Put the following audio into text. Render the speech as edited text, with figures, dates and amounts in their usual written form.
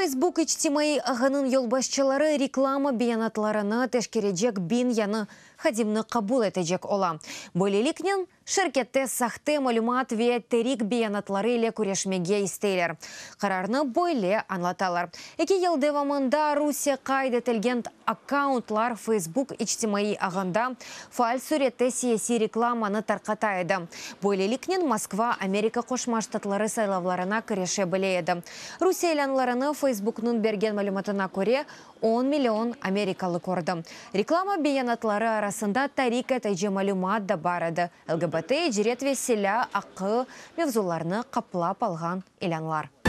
Facebook içtimaiy ağınıñ yolbaşçıları reklama beyanatlarını teşkerecek 1000 yañı hadimni qabul etecek ola. Böyleliknen, şirkette sahte malümat ve terik beyanatları ile küreşmege isteyler. Qararnı böyle añlatalar, 2 yıl devamında Rusiye qayd etilgen akkauntlar Facebook içtimaiy ağında faal sürette siyasiy reklamanı tarqata edi. Böyleliknen, Moskva Amerika Qoşma Ştatları saylavlarına kirişe bile edi. Rusiye ilânlarını, Facebooknıñ bergen malümatına köre, 10 million amerikalı kördi. Reklama beyanatları arasında tarik etici malümat da bar edi, LGBT, icret ve silâ aqqı mevzularını qaplap alğan ilânlar.